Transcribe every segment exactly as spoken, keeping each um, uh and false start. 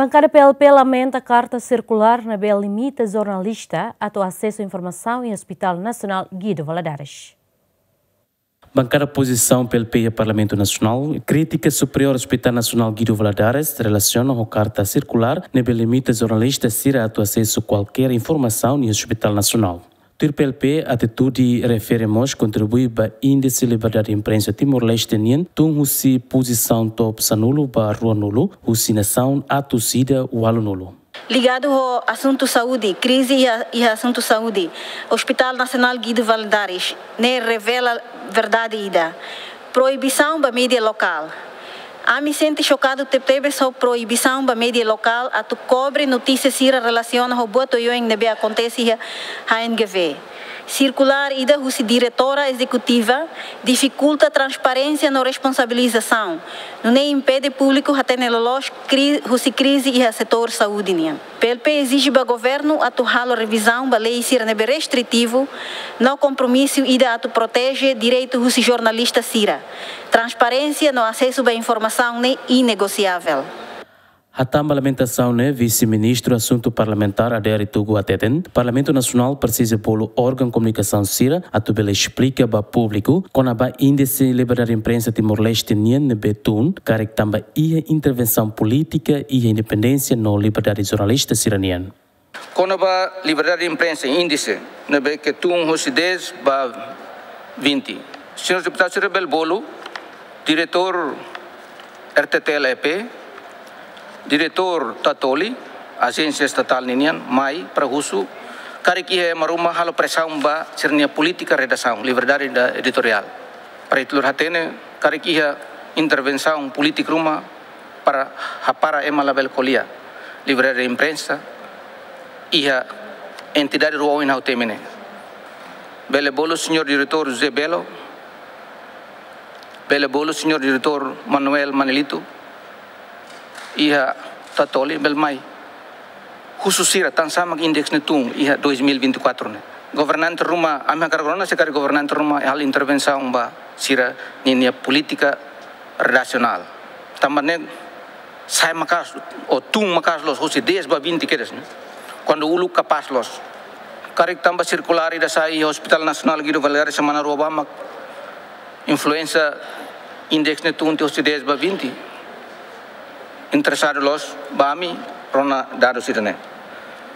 Bankada P L P lamenta karta sirkulár ne'ebé limita jornalista atu asesu informasaun iha Hospital Nasionál Guido Valadares. Bankada Pozisaun P L P iha Parlamentu Nasionál kritika Superiór Hospital Nasionál Guido Valadares relasiona ho karta sirkulár ne'ebé limita jornalista sira atu asesu kualkér informasaun iha Hospital Nasionál. Tuir P L P, atitude refere mós kontribui ba índise liberdade imprensa Timor-Leste nian tun husi pozisaun top sanulu ba ruanulu husi nasaun atus ida ualunulu. Ligadu ho asuntu saúde, krize iha, iha asuntu saúde, Hospital Nasionál Guido Valadares ne'e revela verdade ida: proibisaun ba média lokál. Ami sente xokadu tebetebes ho proibisaun ba média lokál atu kobre notísia sira relasiona ho buat oioin ne'ebé akontese iha H N G V. Sirkulár ida husi diretora ezekutiva difikulta transparénsia no responsabilizasaun, nune'e impede públiku hatene loloos kri-, husi krize iha setór saúde nian. P L P ezije ba governu atu halo revizaun ba lei sira ne'ebé restritivu no kompromisu ida atu proteje direitu husi jornalista sira. Transparénsia no asesu ba informasaun ne'e inegosiavel. Hatán ba lamentasaun ne'e, Vise-Ministru Asuntu Parlamentár Adair Itugu hateten, Parlamentu Nasionál presiza bolu órgaun komunikasaun sira atu bele esplika ba públiku kona-ba índise liberdade imprensa Timor-Leste nian ne'ebé tun karik tanba iha intervensaun polítika iha independénsia no liberdade jornalista sira nian. Kona-ba liberdade imprensa, índise ne'ebé ke tun husi dez ba vinte. Señór deputadu sira bele bolu diretór R T T L E P, diretór Tatoli, ajénsia estatál ninian, mai para husu karik iha ema ruma halo presaun ba sira-nia polítika redasaun, liberdade da editoriál. Para ita hatene karik iha intervensaun polítika ruma para hapara ema labele ko'alia, liberdade imprensa iha entidade rua oin ha'u temi ne'e. Bele bolu señór diretór José Belo, bele bolu señór diretór Manuel Manelito, iha Tatoli, bele mai husu sira tansá mak índise ne'e tun iha dois mil e vinte e quatro ne'e. Governante ruma, ami hakarak rona se karik governante ruma halo intervensaun ba sira-ninia polítika redasionál. Tanba ne'e sai maka'as, ou tun maka'as loos, husi dez ba vinte kedas ne'e. Kuandu uluk kapás loos. Karik tanba sirkulár ida sai iha Hospital Nasionál Guido Valadares semana rua ba mak influénsia índise ne'e tun tiha husi dez ba vinte. Interesadu loos ba ami rona dadus ida-ne'e.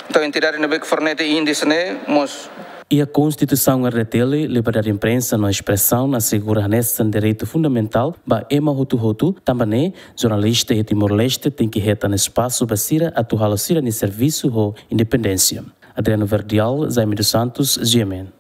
Entaun, entidade ne'ebé ke fornese índise ne'e mós. Iha Konstituisaun R D T L, liberdade imprensa no espresaun asegura hanesan direitu fundamentál ba ema hotu-hotu, tanba ne'e jornalista iha Timor-Leste tenke hetan espasu ba sira atu halo sira-nia servisu ho independénsia. Adriano Verdial, Jaime dos Santos, G M N.